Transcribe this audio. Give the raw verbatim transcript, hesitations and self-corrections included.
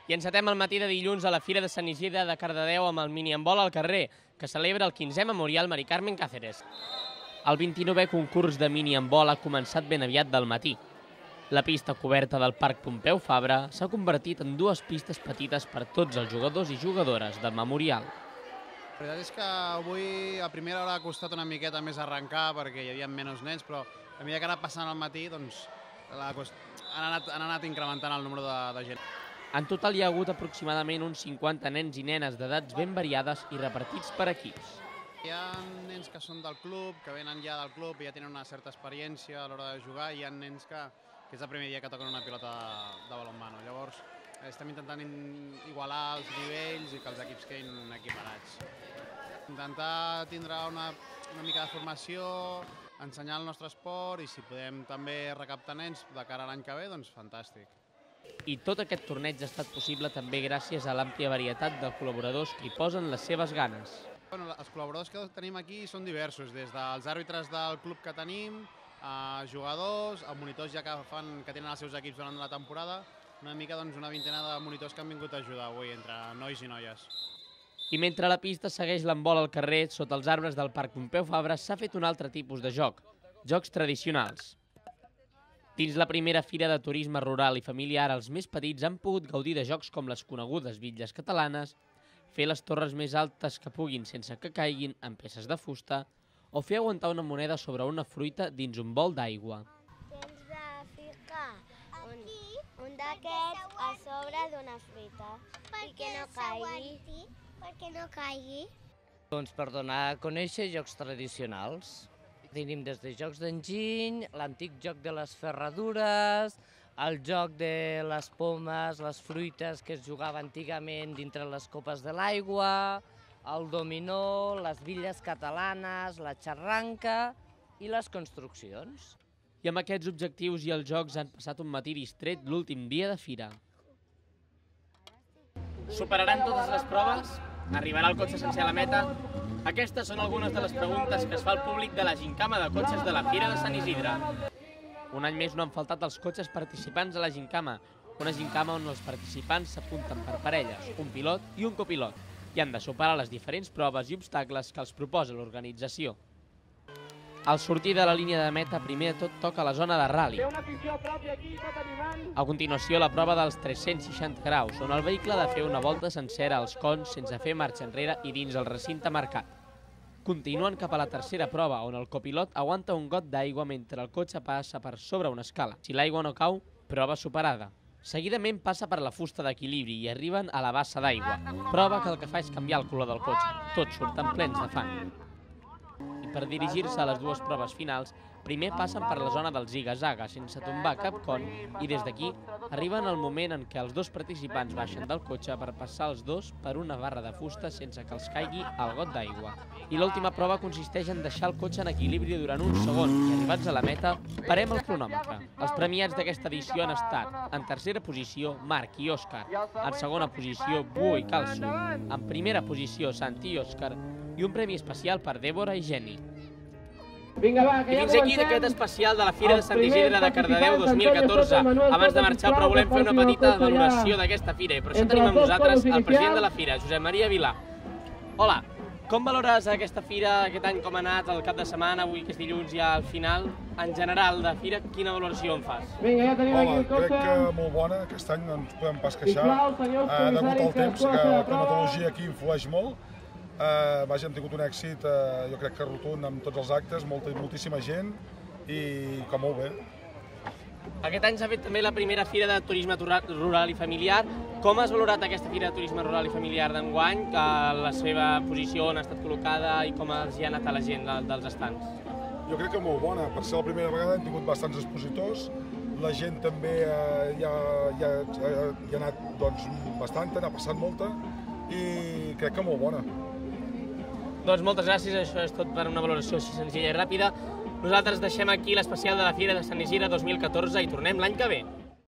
I encetem el matí de dilluns a la Fira de Sant Isidre de Cardedeu amb el minihandbol al carrer, que celebra el quinzè Memorial Mari Carmen Cáceres. El vint-i-novè concurs de minihandbol ha començat ben aviat del matí. La pista coberta del Parc Pompeu Fabra s'ha convertit en dues pistes petites per tots els jugadors i jugadores del Memorial. La veritat és que avui a primera hora ha costat una miqueta més arrencar perquè hi havia menys nens, però a mesura que ha anat passant el matí doncs, la, han, anat, han anat incrementant el número de, de gent. En total hi ha hagut aproximadament uns cinquanta nens i nenes d'edats ben variades i repartits per equips. Hi ha nens que són del club, que venen ja del club i ja tenen una certa experiència a l'hora de jugar, i hi ha nens que, que és el primer dia que toquen una pilota de, de balonmano. Llavors estem intentant igualar els nivells i que els equips quedin equiparats. Intentar tindre una, una mica de formació, ensenyar el nostre esport i si podem també recaptar nens de cara a l'any que ve, doncs fantàstic. I tot aquest torneig ha estat possible també gràcies a l'àmplia varietat de col·laboradors que hi posen les seves ganes. Bueno, els col·laboradors que tenim aquí són diversos, des dels àrbitres del club que tenim, a jugadors, a monitors ja que, fan, que tenen els seus equips durant la temporada, una mica doncs, una vintena de monitors que han vingut a ajudar avui entre nois i noies. I mentre la pista segueix l'handbol al carrer, sota els arbres del Parc Pompeu Fabra s'ha fet un altre tipus de joc, jocs tradicionals. Dins la primera fira de turisme rural i familiar, els més petits han pogut gaudir de jocs com les conegudes bitlles catalanes, fer les torres més altes que puguin sense que caiguin en peces de fusta o fer aguantar una moneda sobre una fruita dins un bol d'aigua. Tens de ficar un, un d'aquests a sobre d'una fruita i que no caigui. Perquè no caigui. Doncs per donar a conèixer jocs tradicionals. Tenim des de jocs d'enginy, l'antic joc de les ferradures, el joc de les pomes, les fruites que es jugava antigament dintre les copes de l'aigua, el dominó, les bitlles catalanes, la xarranca i les construccions. I amb aquests objectius i els jocs han passat un matí distret l'últim dia de fira. Superaran totes les proves? Arribarà el cotxe sencer a la meta? Aquestes són algunes de les preguntes que es fa al públic de la gincama de cotxes de la Fira de Sant Isidre. Un any més no han faltat els cotxes participants a la gincama, una gincama on els participants s'apunten per parelles, un pilot i un copilot, i han de superar les diferents proves i obstacles que els proposa l'organització. Al sortir de la línia de meta, primer de tot toca la zona de ral·li. A continuació, la prova dels tres-cents seixanta graus, on el vehicle ha de fer una volta sencera als cons sense fer marxa enrere i dins el recinte marcat. Continuen cap a la tercera prova, on el copilot aguanta un got d'aigua mentre el cotxe passa per sobre una escala. Si l'aigua no cau, prova superada. Seguidament passa per la fusta d'equilibri i arriben a la bassa d'aigua, prova que el que fa és canviar el color del cotxe. Tots surten plens de fang. I per dirigir-se a les dues proves finals, primer passen per la zona del ziga-zaga sense tombar cap con i des d'aquí arriben al moment en què els dos participants baixen del cotxe per passar els dos per una barra de fusta sense que els caigui el got d'aigua. I l'última prova consisteix en deixar el cotxe en equilibri durant un segon i arribats a la meta, parem el cronòmetre. Els premiats d'aquesta edició han estat en tercera posició Marc i Òscar, en segona posició Buo i Calço, en primera posició Santi i Òscar i un premi especial per Dèbora i Geni. Vinga, va, que I ja fins aquí comencem. aquest especial de la Fira de Sant Isidre de Cardedeu dos mil catorze. Abans de marxar, però volem fer una petita valoració d'aquesta fira i per això tenim amb nosaltres el president de la Fira, Josep Maria Vilà. Hola, com valores aquesta fira, aquest any com ha anat, el cap de setmana, avui que és dilluns ja al final, en general de fira, quina valoració en fas? Vinga, ja tenim aquí Hola, el cotxe. crec que molt bona, aquest any no ens podem pas queixar. Sisplau, senyors Eh, degut comissaris, al temps, que que es la posa a climatologia aquí influeix molt. Eh, vaja, hem tingut un èxit, eh, jo crec que rotund amb tots els actes, molta, moltíssima gent i que molt bé. Aquest any s'ha fet també la primera Fira de Turisme Rural i Familiar. Com has valorat aquesta Fira de Turisme Rural i Familiar d'enguany, la seva posició, on ha estat col·locada i com els hi ha anat a la gent dels estants? Jo crec que molt bona, per ser la primera vegada hem tingut bastants expositors, la gent també eh, ja, ja, ja, ja ha anat doncs, bastanta, n'ha passat molta i crec que molt bona. Doncs moltes gràcies, això és tot per una valoració així senzilla i ràpida. Nosaltres deixem aquí l'especial de la Fira de Sant Isidre dos mil catorze i tornem l'any que ve.